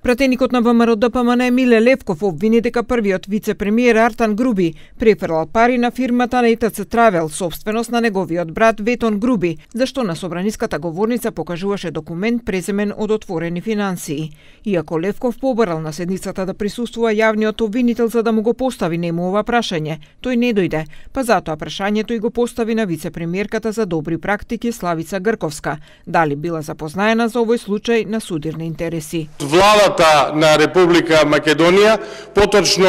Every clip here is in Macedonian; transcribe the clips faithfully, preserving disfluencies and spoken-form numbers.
Пратеникот на ВМРО Д П М Н Миле Левков обвини дека првиот вице-премиер Артан Груби префрлал пари на фирмата на И Т Ц Травел, собственост на неговиот брат Ветон Груби, зашто на собраниската говорница покажуваше документ преземен од отворени финансии. Иако Левков побарал на седницата да присуствува јавниот обвинител за да му го постави нему ова прашање, тој не дојде, па затоа прашањето и го постави на вице-премиерката за добри практики Славица Грковска, дали била запознаена за овој случај на судирни интереси. Владата на Република Македонија, поточно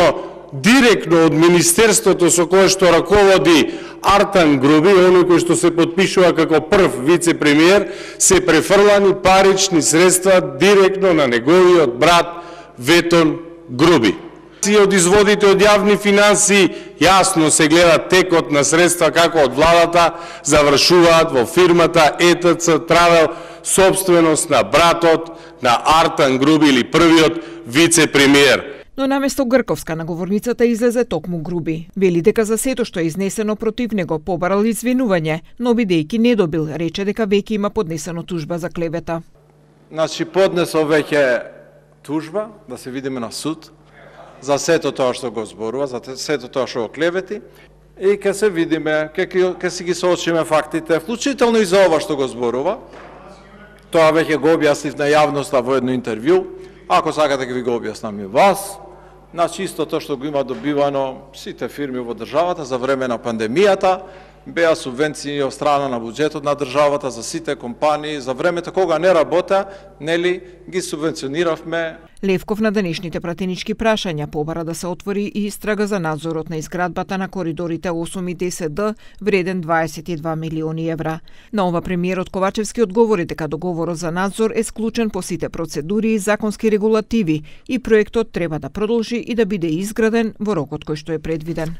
директно од Министерството со кое што раководи Артан Груби, оној кој што се подпишува како прв вице-премиер, се префрлани парични средства директно на неговиот брат Ветон Груби. Од изводите од јавни финансии јасно се гледа текот на средства како од владата завршуваат во фирмата И Т Ц Травел, собственост на братот на Артан Груби или првиот вице-премиер. Но наместо Грковска на говорницата излезе токму Груби. Вели дека за сето што е изнесено против него побарал извинување, но бидејќи не добил, рече дека веќе има поднесено тужба за клевета. Значи поднесо веќе тужба, да се видиме на суд, за сето тоа што го зборува, за сето тоа што го клевети, и ќе се видиме, ќе си ги соочиме фактите, вклучително и за ова што го зборува. Тоа веќе го објаснив на јавноста во едно интервју. Ако сакате ќе ви го објаснам и вас. Значи истото што го има добивано сите фирми во државата за време на пандемијата, беа субвенции од страна на буџетот на државата за сите компании, за времето кога не работа, нели ги субвенциониравме. Левков на денешните пратенички прашања побара да се отвори и истрага за надзорот на изградбата на коридорите осум и десет Д, вреден дваесет и два милиони евра. На ова премиерот Ковачевски одговори дека договорот за надзор е склучен по сите процедури и законски регулативи и проектот треба да продолжи и да биде изграден во рокот кој што е предвиден.